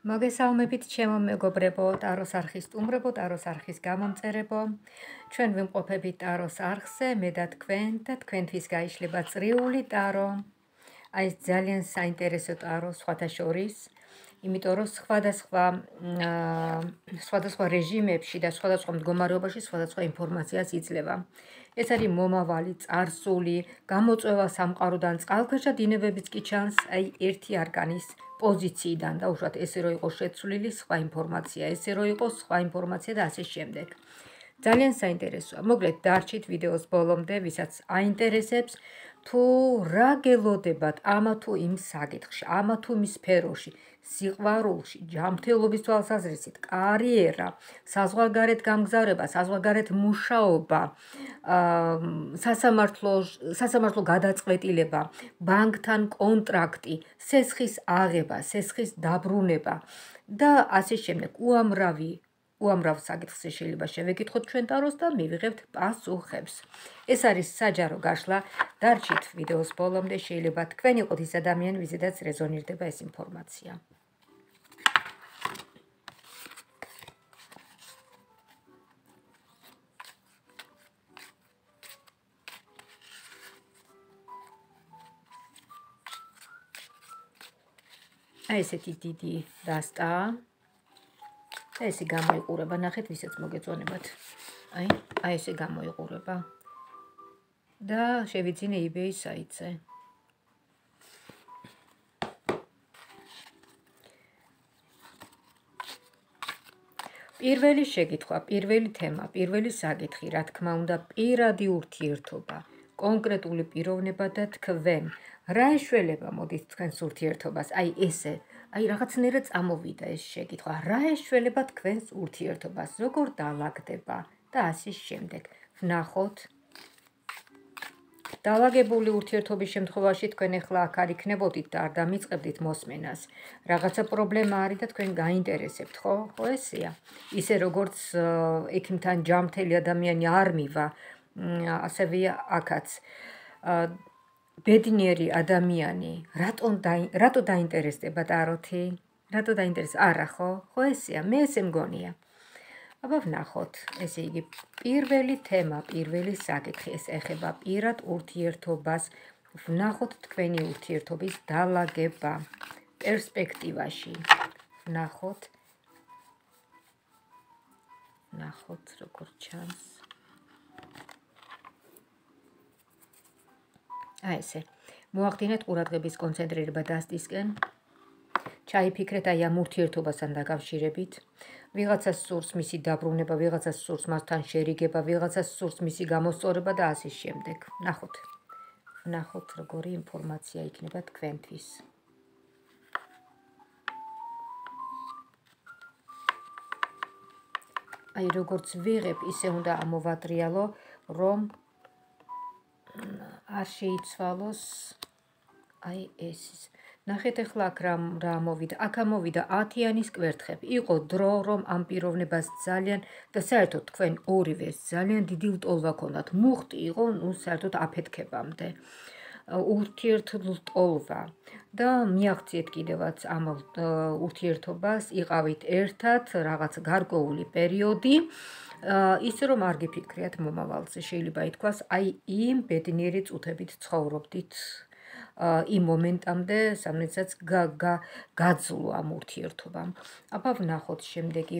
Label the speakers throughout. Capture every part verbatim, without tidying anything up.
Speaker 1: მოგესალმებით ჩემო მეგობრებო, ტაროს არხის სტუმრებო, ტაროს არხის გამომწერებო. ჩვენ ვიმყოფებით ტაროს არხზე, მე და თქვენ და თქვენთვის გაიშლება წრიული ტარო. აი ეს ძალიან საინტერესო ტარო სხვათა შორის, იმიტომ რომ სხვადასხვა სხვადასხვა რეჟიმებში და სხვადასხვა მდგომარეობაში სხვადასხვა ინფორმაციას იძლევა. ეს არის მომავალი, წარსული, გამოწვევა სამყაროდან, წყალქვეშა დინებებიც კი ჩანს, აი ერთი არკანის პოზიციიდან და უშუალოდ ესე რომ იყოს შეცვლილი სხვა ინფორმაცია, ესე რომ იყოს სხვა ინფორმაცია და ასე შემდეგ. ძალიან საინტერესოა. მოკლედ დარჩით ვიდეოს ბოლომდე, ვისაც აინტერესებს, თუ რა გელოდებათ ამა თუ იმ საკითხში, ამა თუ იმ სფეროში, სიყვარულში, ჯანმრთელობის თვალსაზრისით, კარიერა, საზღვარგარეთ გამგზავრება, საზღვარგარეთ მუშაობა, სასამართლო სასამართლო გადაწყვეტილება, ბანკთან კონტრაქტი, სესხის აღება, სესხის დაბრუნება და ასე შემდეგ. უამრავი უამრავ საკითხს შეიძლება შევეკითხოთ ჩვენ ტაროს და მივიღებთ პასუხებს. ეს არის საჯარო გაშლა. დარჩით ვიდეოს ბოლომდე, შეიძლება თქვენ იყოთ ის ადამიანი, ვიზედაც რეზონირდება ეს ინფორმაცია. აი ესეთი დიდი დასტა. და ესე გამოიყურება, ნახეთ, ვისაც მოგეწონებათ. აი, აი ესე გამოიყურება. და შევიძინე eBay საიტზე. პირველი შეკითხვა, პირველი თემა, პირველი საკითხი, რა თქმა უნდა, პირადი ურთიერთობა, კონკრეტული პიროვნება და თქვენ. რა ეშველება მოდით თქვენს ურთიერთობას? აი ესე აი რაღაცნაირად წამოვიდა ეს შეკითხვა. რა ეშველება თქვენს ურთიერთობას? როგორ დაალაგდება და ასე შემდეგ. ვნახოთ. დაალაგებული ურთიერთობის შემთხვევაში თქვენ ახლა აქ არ იქნებოდით და არ დამიწყებდით მოსმენას. რაღაცა პრობლემა არის და თქვენ გაინტერესებთ, ხო? ხო ესეა. ისე როგორც ექიმთან ჯანმრთელი ადამიანი არ მივა, ასევე აქაც ბედნიერი ადამიანი რატომ რატო დაინტერესდება ტაროთი? რატო დაინტერესდება? არა ხო? ხო ესეა, მე ესე მგონია. აბა ვნახოთ, ესე იგი, პირველი თემა, პირველი საკითხი, ეს ეხება პირად ურთიერთობას. ვნახოთ თქვენი ურთიერთობის დაალაგება პერსპექტივაში. ვნახოთ. ვნახოთ, როგორ ჩანს. აი ესე. მოახდინეთ ყურადღების კონცენტრირება დასტისკენ. ჩაიფიქრეთ აი ამ ურთიერთობასთან დაკავშირებით. ვიღაცას სურს მისი დაბრუნება, ვიღაცას სურს მასთან შერიგება, ვიღაცას სურს მისი გამოსწორება და ასე შემდეგ. ნახოთ. ნახოთ, როგორი ინფორმაცია იქნება თქვენთვის. აი როგორც ვიღებ, ისე უნდა ამოვატრიალო, რომ არ შეიცვალოს აი ეს. ნახეთ ახლა აქ რა მოვიდა. აქ ამოვიდა ათიანის კვერთხები. იყო დრო, რომ ამ პიროვნებას ძალიან და საერთოდ თქვენ ორივეს ძალიან დიდი ლტოლვა ქონდათ. მუხტი იყო, ნუ საერთოდ აფეთქებამდე. ურთიერთლტოლვა და მიაღწიეთ კიდევაც ამ ურთიერთობას, იყავით ერთად რაღაც გარკვეული პერიოდი. ისე რომ არ გიფიქრიათ მომავალზე, შეიძლება ითქვას, აი იმ ბედნიერი წუთებით ცხოვრობდით იმ მომენტამდე, სამდესაც გაძლო ამ ურთიერთობამ. აბა ვნახოთ შემდეგი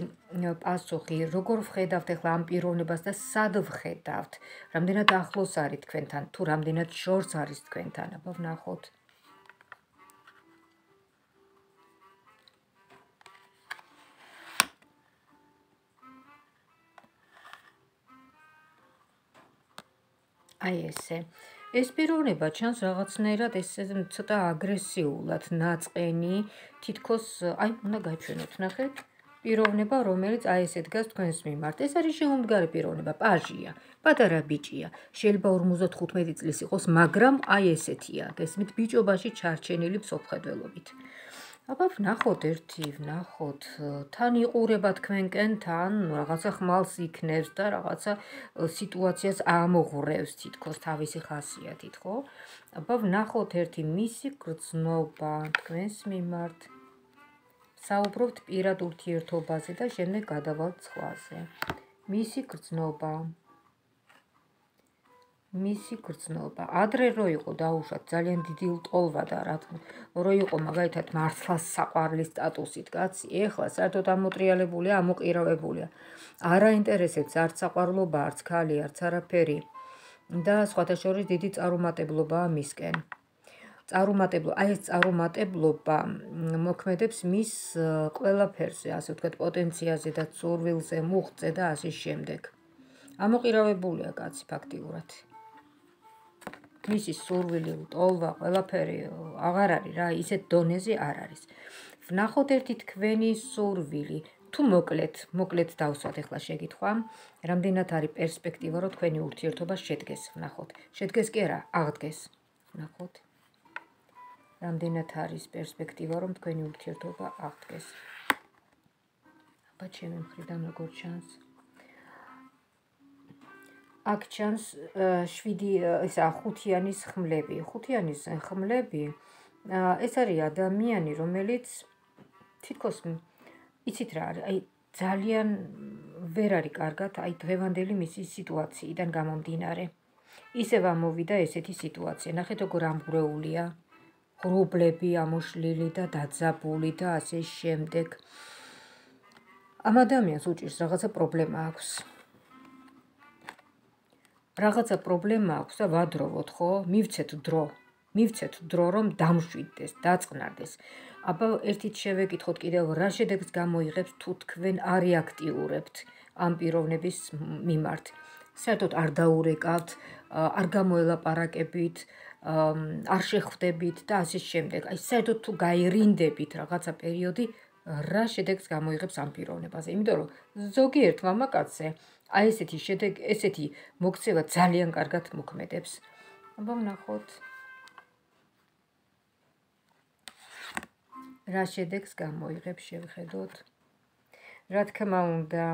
Speaker 1: პასუხი, როგორ ვხედავთ ახლა ამ პიროვნებას და სად ვხედავთ? რამდენად ახლოს არის თქვენთან, თუ რამდენად შორს არის თქვენთან? აბა ვნახოთ. აი ესე. ეს პიროვნება ჩანს რაღაცნაირად ესე ცოტა აგრესიულად ნაწყენი, თითქოს აი უნდა გაჩვენოთ, ნახეთ. პიროვნება, რომელიც აი ესე დგას თქვენს მიმართ. ეს არის შემომდგარი პიროვნება, პაჟია, პატარა ბიჭია. შეიძლება ორმოცდათხუთმეტი წლის იყოს, მაგრამ აი ესეთია. გესმით, ბიჭობაში ჩარჩენილი მსოფლმხედველობით. აბა ვნახოთ ერთი, ვნახოთ, თან იყურება თქვენკენ, თან რაღაცა ხმალს იქნევს და რაღაცა სიტუაციას ამოღრევს თითქოს თავისი ხასიათით, ხო? აბა ვნახოთ ერთი მისი გრძნობა თქვენს მიმართ. საუბრობთ პირად ურთიერთობაზე და შემდეგ გადავალთ სხვაზე. მისი გრძნობა. მისი გრძნობა. ადრე რო იყო დაუშვათ ძალიან დიდი ლტოლვა და რა რო იყო მაგალითად მართლაც საყვარლის სტატუსით კაცი, ეხლა საერთოდ ამოტრიალებულია, ამოყირავებულია. არ აინტერესებს არც საყვარლობა, არც ქალი, არც არაფერი და სხვათა შორის დიდი წარუმატებლობაა მისკენ. წარუმატებლობა, აი ეს წარუმატებლობა მოქმედებს მის ყველაფერზე, ასე ვთქვათ, პოტენციაზე და სურვილზე, მუხტზე და ასე შემდეგ. ამოყირავებულია კაცი ფაქტიურად. მისი სურვილი, ლტოლვა, ყველაფერი აღარ არის რა, ისეთ დონეზე არ არის. ვნახოთ ერთი თქვენი სურვილი, თუ მოკლედ, მოკლედ დავსვათ ახლა შეკითხვა, რამდენად არის პერსპექტივა, რომ თქვენი ურთიერთობა შედგეს, ვნახოთ. შედგეს კი არა, აღდგეს. ვნახოთ. რამდენად არის პერსპექტივა, რომ თქვენი ურთიერთობა აღდგეს. აბა ჩემი მხრიდან როგორ ჩანს? აქ ჩანს შვიდი, ისა ხუთიანის ხმლები. ხუთიანის ხმლები ეს არის ადამიანი, რომელიც თითქოს იცით რა არის, აი ძალიან ვერ არის კარგად, აი დღევანდელი მისი სიტუაციიდან გამომდინარე. ისევ ამოვიდა ესეთი სიტუაცია. ნახეთ როგორ ამღვრეულია, ღრუბლები ამოშლილი და დაძაბული და ასე შემდეგ. ამ ადამიანს უჭირს რაღაცა პრობლემა აქვს. რაღაცა პრობლემა აქვს და ვადროვოთ, ხო? მივცეთ დრო. მივცეთ დრო, რომ დამშვიდდეს, დაწყნარდეს. აბა ერთით შევეკითხოთ კიდევ, რა შედეგს გამოიღებს, თუ თქვენ არ რეაქტიურებთ ამ პიროვნების მიმართ. საერთოდ არ დაურეკავთ, არ გამოელაპარაკებით, არ შეხვდებით და ასე შემდეგ. აი საერთოდ თუ გაერინდებით რაღაცა პერიოდი, რა შედეგს გამოიღებს ამ პიროვნებაზე. იმიტომ რომ ზოგიერთ მამაკაცზე აი ესეთი შედეგი, ესეთი მოქცევა ძალიან კარგად მოქმედებს. აბა ვნახოთ. რა შედეგს გამოიღებს, შევხედოთ. რა თქმა უნდა,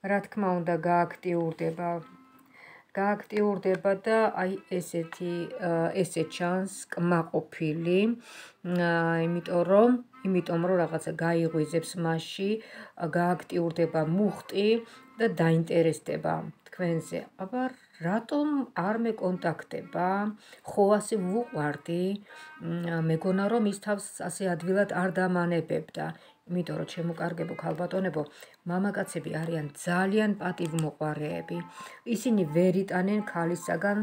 Speaker 1: რა თქმა უნდა გააქტიურდება. გააქტიურდება და აი ესეთი ესე ჩანს კმაყოფილი, იმიტომ რომ იმიტომ რომ რაღაცა გაიღვიძებს მასში, გააქტიურდება მუხტი და დაინტერესდება თქვენზე. აბა რატომ არ მეკონტაქტება? ხო ასე ვუყვარდი, მეგონა რომ ის თავს ასე ადვილად არ დამანებებდა. იმიტომ რომ ჩემო კარგებო ქალბატონებო, მამაკაცები არიან ძალიან პატივმოყვარეები. ისინი ვერ იტანენ ქალისაგან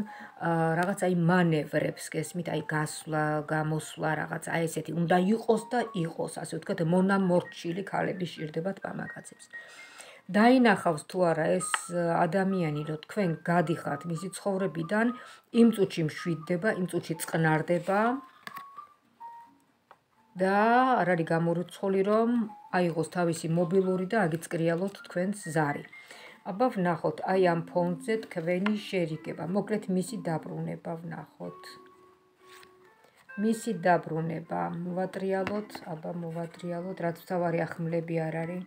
Speaker 1: რაღაც აი მანევრებს, გესმით, აი გასვლა, გამოსვლა, რაღაც აი ესეთი უნდა იყოს და იყოს, ასე ვთქვათ, მონამორჩილი ქალები სჭირდებათ მამაკაცებს. დაინახავს თუ არა ეს ადამიანი, რომ თქვენ გადიხართ მისი ცხოვრებიდან, იმ წუთში მშვიდდება, იმ წუთში წყნარდება და არ არის გამორიცხული, რომ აიღოს თავისი მობილური და აგიწკრიალოთ თქვენს ზარი. აბა ვნახოთ, აი ამ ფონზე თქვენი შერიგება, მოკლედ მისი დაბრუნება ვნახოთ. მისი დაბრუნება, მოვატრიალოთ, აბა მოვატრიალოთ, რაც თავარი ხმლები არ არის.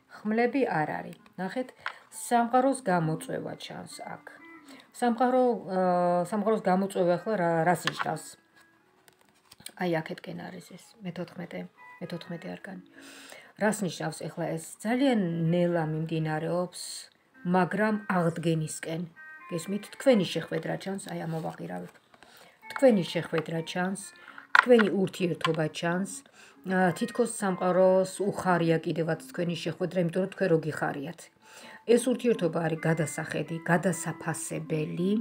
Speaker 1: ხმლები არ არის. ნახეთ, სამყაროს გამოწვევა ჩანს აქ. სამყარო სამყაროს გამოწვევა ახლა რას ნიშნავს? აი აქეთკენ არის ეს მეთოთხმეტე არკანი. რას ნიშნავს ახლა ეს? ძალიან ნელა მიმდინარეობს, მაგრამ აღდგენისკენ. გესმით, თქვენი შეხვედრა ჩანს, აი ამოვაყირავეთ. თქვენი შეხვედრა ჩანს, თქვენი ურთიერთობა ჩანს, თითქოს სამყაროს უხარია კიდევაც თქვენი შეხვედრა, იმიტომ რომ თქვენ რო გიხარიათ. ეს ურთიერთობა არის გადასახედი, გადასაფასებელი.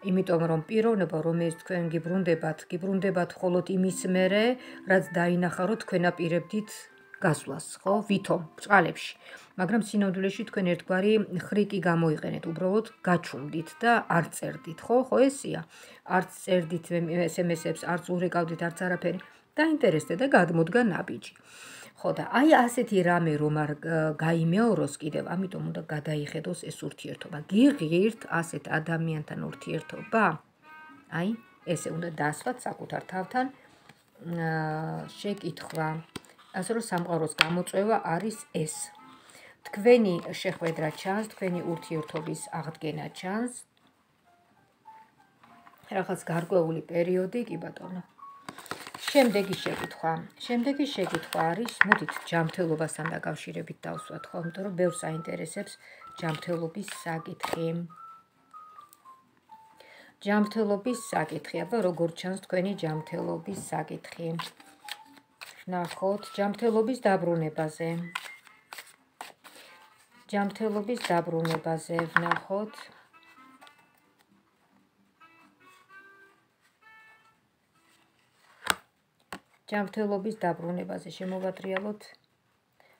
Speaker 1: იმიტომ რომ პიროვნება, რომელიც თქვენ გიბრუნდებათ, გიბრუნდებათ მხოლოდ იმის მერე, რაც დაინახა, რომ თქვენ აპირებდით გასვლას, ხო? ვითომ ბჭყალებში. მაგრამ სინამდვილეში თქვენ ერთგვარი ხრიკი გამოიყენეთ, უბრალოდ გაჩუმდით და არ წერდით, ხო? ხო ესია? არც წერდით ესემესებს, არც ურეკავდით, არც არაფერი. დაინტერესდეთ და გადმოდგა ნაბიჯი. ხო და აი ასეთი რამე რომ არ გაიმეოროს კიდევ, ამიტომ უნდა გადაიხედოს ეს ურთიერთობა. გიღირთ ასეთ ადამიანთან ურთიერთობა? აი, ესე უნდა დასვათ საკუთარ თავთან შეკითხვა. ასე რომ სამყაროს გამოწვევა არის ეს. თქვენი შეხვედრა ჩანს, თქვენი ურთიერთობის აღდგენა ჩანს. რაღაც გარკვეული პერიოდი, კი ბატონო. შემდეგი შეკითხვა. შემდეგი შეკითხვა არის, მოდით ჯანმრთელობასთან დაკავშირებით დავსვათ, ხო? იმიტომ რომ ბევრს აინტერესებს ჯანმრთელობის საკითხი. ჯანმრთელობის საკითხი, აბა როგორ ჩანს თქვენი ჯანმრთელობის საკითხი? ნახოთ, ჯანმრთელობის დაბრუნებაზე. ჯანმრთელობის დაბრუნებაზე ვნახოთ. ჯანმრთელობის დაბრუნებაზე შემოვატრიალოთ.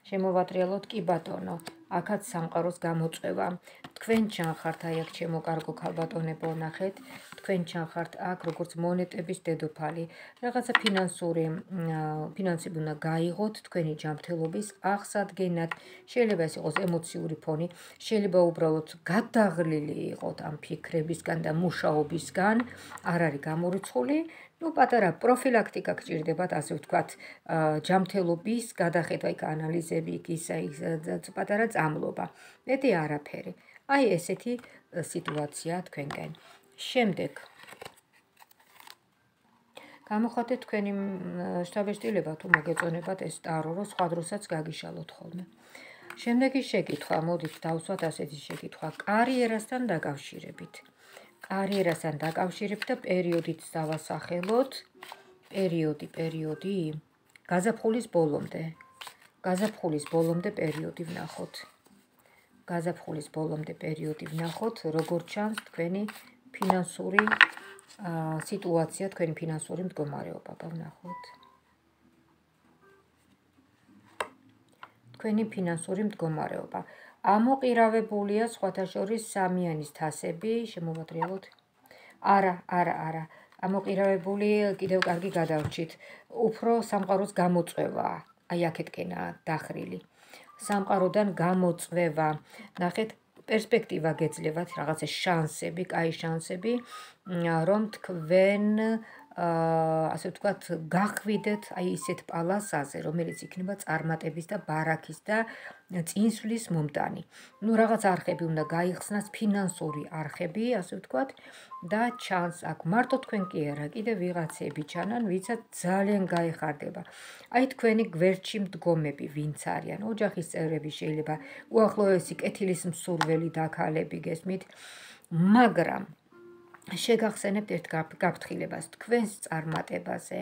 Speaker 1: შემოვატრიალოთ კი ბატონო. აქაც სამყაროს გამოწვევა. თქვენ ჩანხართ აი აქ ჩემო კარგო ქალბატონებო, ნახეთ. თქვენ ჩანხართ აქ როგორც მონეტების დედოფალი. რაღაცა ფინანსური ფინანსები უნდა გაიღოთ თქვენი ჯანმრთელობის აღსადგენად. შეიძლება ეს იყოს ემოციური ფონი, შეიძლება უბრალოდ გადაღლილი იყოთ ამ ფიქრებისგან და მუშაობისგან, არ არის გამორიცხული. ნუ პატარა პროფილაქტიკა გჭირდებათ, ასე ვთქვათ, ჯანმრთელობის გადახედვა, იქ ანალიზები, იქ ისა პატარა წამლობა. მეტი არაფერი. აი ესეთი სიტუაცია თქვენკენ. შემდეგ გამოხატეთ თქვენი შთაბეჭდილება თუ მოგეწონებათ ეს ტარო, რომ სხვა დროსაც გაგიშალოთ ხოლმე. შემდეგი შეკითხვა, მოდით დავსვათ ასეთი შეკითხვა. კარიერასთან დაკავშირებით. კარიერასთან დაკავშირებით და პერიოდით დავასახელოთ. პერიოდი, პერიოდი. გაზაფხულის ბოლომდე. გაზაფხულის ბოლომდე პერიოდი ვნახოთ. გაზაფხულის ბოლომდე პერიოდი ვნახოთ, როგორ ჩანს თქვენი ფინანსური სიტუაცია, თქვენი ფინანსური მდგომარეობა, ვნახოთ. თქვენი ფინანსური მდგომარეობა. ამოყირავებულია სხვათა შორის სამიანის თასები, შემოვატრიალოთ. არა, არა, არა. ამოყირავებული კიდევ კარგი გადავრჩით. უფრო სამყაროს გამოწვევაა. აი აქეთკენაა დახრილი. სამყაროდან გამოწვევა. ნახეთ, პერსპექტივა გეძლევათ, რაღაცა შანსები, კაი შანსები, რომ თქვენ ასე ვთქვათ, გახვიდეთ აი ისეთ პალასაზე, რომელიც იქნება წარმატების და ბარაქის და წინსვლის მომტანი. ნუ რაღაც არხები უნდა გაიხსნას, ფინანსური არხები, ასე ვთქვათ, და ჩანს აქ მარტო თქვენ კი არა, კიდევ ვიღაცები ჩანან, ვიცაც ძალიან გაეხარდება. აი თქვენი გვერდში მდგომები, ვინც არიან, ოჯახის წევრები შეიძლება, უახლოესი კეთილის მსურველი დაქალები გესმით, მაგრამ შეგახსენებთ ერთ გაფრთხილებას, თქვენს წარმატებაზე,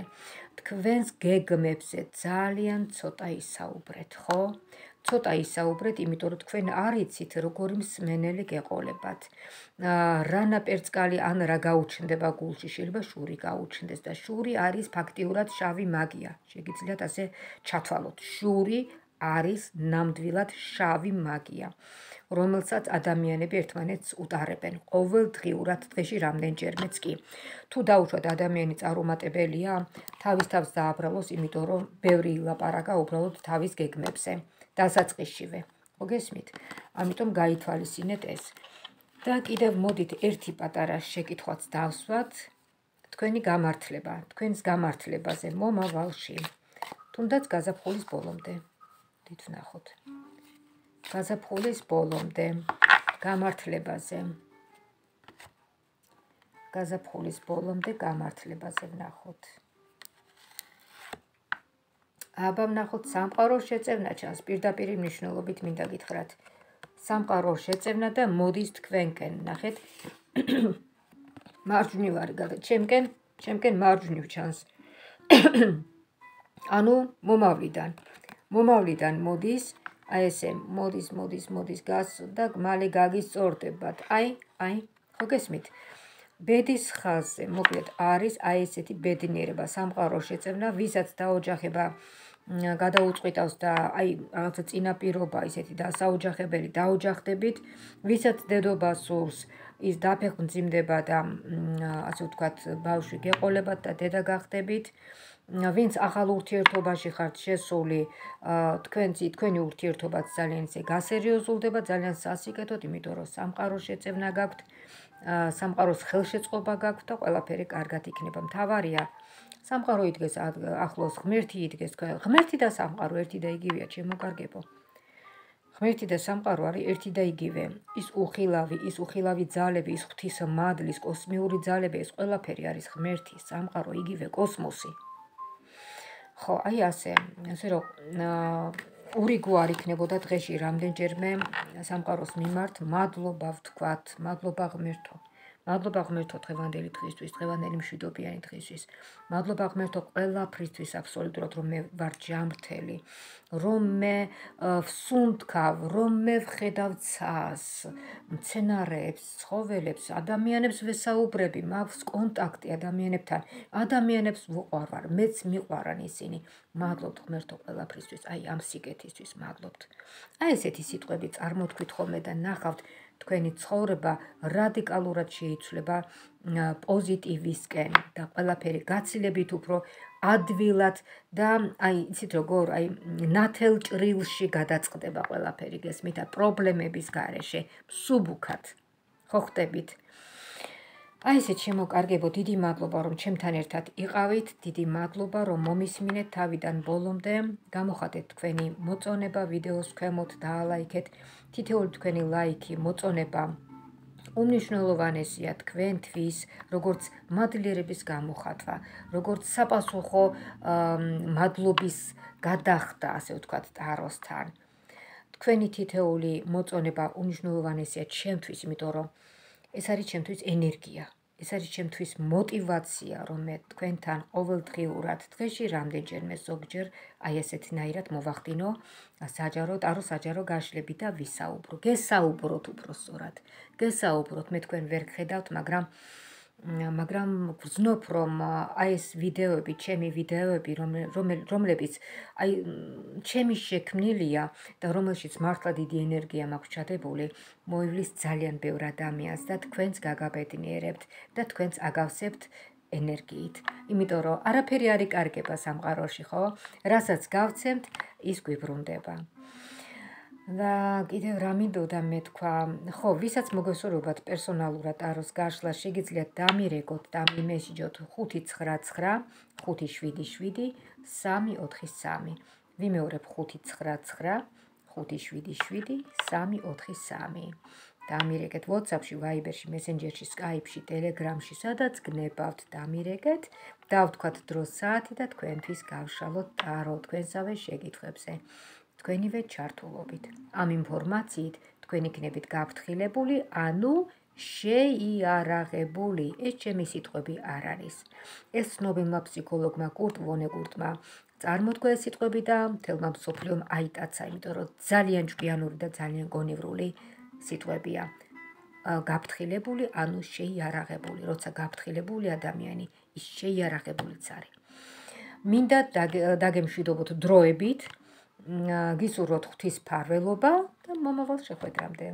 Speaker 1: თქვენს გეგმებზე ძალიან ცოტა ისაუბრეთ, ხო? ცოტა ისაუბრეთ, იმიტომ რომ თქვენ არ იცით, როგორი მსმენელი გეყოლებათ. რა ნაპერწკალი ან რა გაუჩნდება გულში, შეიძლება შური გაუჩნდეს და შური არის ფაქტიურად შავი მაგია. შეგიძლიათ ასე ჩათვალოთ. შური არის ნამდვილად შავი მაგია, რომელსაც ადამიანები ერთმანეთს უტარებენ ყოველდღიურად, დღეში რამდენჯერმეც კი. თუ დაუშვათ ადამიანი წარუმატებელია, თავის თავს დააბრალოს, იმიტომ რომ ბევრი ილაპარაკა უბრალოდ თავის გეგმებზე, დასაწყისშივე. მოგესმით? ამიტომ გაითვალისწინეთ ეს. და კიდევ მოდით ერთი პატარა შეკითხვაც დავსვათ. თქვენი გამართლება, თქვენს გამართლებაზე მომავალში. თუნდაც გაზაფხულის ბოლომდე. დიდ ვნახოთ. გაზაფხულის ბოლომდე გამართლებაზე. გაზაფხულის ბოლომდე გამართლებაზე ვნახოთ. აბა ვნახოთ სამყაროს შეწევნა ჩანს, პირდაპირი მნიშვნელობით მინდა გითხრათ. სამყაროს შეწევნა და მოდის თქვენკენ, ნახეთ. მარჯვნივ არის გადა, ჩემკენ, ჩემკენ მარჯვნივ ჩანს. ანუ მომავლიდან. მომავლიდან მოდის, აი ესე, მოდის, მოდის, მოდის, გას და მალე გაგისწორდებათ. აი, აი, ხო გესმით? ბედის ხაზზე, მოკლედ, არის აი ესეთი ბედნიერება, სამყაროს შეწევნა, ვისაც დაოჯახება გადაუწყვიტავს და აი რაღაცა წინაპირობა ისეთი დასაოჯახებელი დაოჯახდებით, ვისაც დედობა სურს, ის დაფეხმძიმდება და ასე ვთქვათ, ბავშვი გეყოლებათ და დედა გახდებით. ვინც ახალ ურთიერთობაში ხართ შესული, თქვენცი თქვენი ურთიერთობაც ძალიან ისე გასერიოზულდება, ძალიან სასიკეთოდ, იმიტომ რომ სამყაროს შეწევნა გაქვთ, სამყაროს ხელშეწყობა გაქვთ და ყველაფერი კარგად იქნება. მთავარია სამყარო იდგეს ახლოს, ღმერთი იდგეს, ღმერთი და სამყარო ერთი და იგივეა, შემოგარგებო. ღმერთი და სამყარო არის ერთი და იგივე. ის უხილავი, ის უხილავი ძალები, ის ღვთისმადლის, კოსმიური ძალები, ეს ყველაფერი არის ღმერთი, სამყარო, იგივე კოსმოსი. ხო, აი ასე, ასე რომ ურიგო არ იქნებოდა დღეში რამდენჯერმე სამყაროს მიმართ მადლობა ვთქვათ, მადლობა ღმერთო. მადლობა ღმერთო დღევანდელი დღისთვის, დღევანდელი მშვიდობიანი დღისთვის. მადლობა ღმერთო ყველაფრისთვის აბსოლუტურად, რომ მე ვარ ჯანმრთელი, რომ მე ვსუნთქავ, რომ მე ვხედავ ცას, მცენარეებს, ცხოველებს, ადამიანებს ვესაუბრები, მაქვს კონტაქტი ადამიანებთან, ადამიანებს ვუყვარვარ, მეც მიყვარან ისინი. მადლობთ ღმერთო ყველაფრისთვის, აი ამ სიკეთისთვის მადლობთ. აი ესეთი სიტყვები წარმოთქვით ხოლმე და ნახავთ თქვენი ცხოვრება რადიკალურად შეიცვლება პოზიტივისკენ და ყველაფერი გაცილებით უფრო ადვილად და აი იცით როგორ აი ნათელ ჭრილში გადაწყდება ყველაფერი გესმით და პრობლემების გარეშე მსუბუქად ხო ხტებით. აი ესეთ შემოკარგებო, დიდი მადლობა რომ ჩემთან ერთად იყავით, დიდი მადლობა რომ მომისმინეთ თავიდან ბოლომდე, გამოხატეთ თქვენი მოწონება ვიდეოს ქვემოთ, დაალაიქეთ, თითოეული თქვენი ლაიქი, მოწონება უმნიშვნელოვანესია თქვენთვის, როგორც მადლიერების გამოხატვა, როგორც საპასუხო მადლობის გადახდა, ასე ვთქვათ, ტაროსთან. თქვენი თითოეული მოწონება უმნიშვნელოვანესია ჩემთვის, იმიტომ რომ ეს არის ჩემთვის ენერგია. ეს არის ჩემთვის мотивация, რომ მე თქვენთან ყოველდღიურად დღეში რამდენჯერმე ზოგჯერ აი ესეთნაირად მოვახდინო საჯარო, ტარო საჯარო გაშლები და ვისაუბრო. გესაუბროთ უბრალოდ. გესაუბროთ, მე თქვენ ვერ გხედავთ, მაგრამ მაგრამ გრძნობ რომ აი ეს ვიდეოები, ჩემი ვიდეოები, რომლებიც აი ჩემი შექმნილია და რომელშიც მართლა დიდი ენერგია მაქვს ჩადებული, მოივლის ძალიან ბევრ ადამიანს და თქვენს გაგაბედნიერებთ და თქვენს აგავსებთ ენერგიით. იმიტომ რომ არაფერი არ იკარგება სამყაროში, ხო? რასაც გავცემთ, ის გვიბრუნდება. და კიდევ რა მინდოდა მე თქვა, ხო, ვისაც მოგესურვებათ პერსონალურად ტაროს გაშლა, შეგიძლიათ დამირეკოთ და მიმესიჯოთ ხუთი ცხრა ცხრა ხუთი შვიდი შვიდი სამი ოთხი სამი. ვიმეორებ ხუთი ცხრა ცხრა ხუთი შვიდი შვიდი სამი ოთხი სამი. დამირეკეთ WhatsApp-ში, Viber-ში, Messenger-ში, Skype-ში, Telegram-ში, სადაც გნებავთ, დამირეკეთ, დავთქვათ დროს საათი და თქვენთვის გავშალოთ ტარო თქვენსავე შეკითხვებზე. თქვენივე ჩართულობით. ამ ინფორმაციით თქვენ იქნებით გაფრთხილებული, ანუ შეიარაღებული. ეს ჩემი სიტყვები არ არის. ეს ცნობილმა ფსიქოლოგმა კურტ ვონეგუტმა წარმოთქვა ეს სიტყვები და მთელმა მსოფლიომ აიტაცა, იმიტომ რომ ძალიან ჭკვიანური და ძალიან გონივრული სიტყვებია. გაფრთხილებული, ანუ შეიარაღებული. როცა გაფრთხილებული ადამიანი, ის შეიარაღებულიც არის. მინდა დაგემშვიდობოთ დროებით, გისურვოთ ღვთის ფარველობა და მომავალ შეხვედრამდე.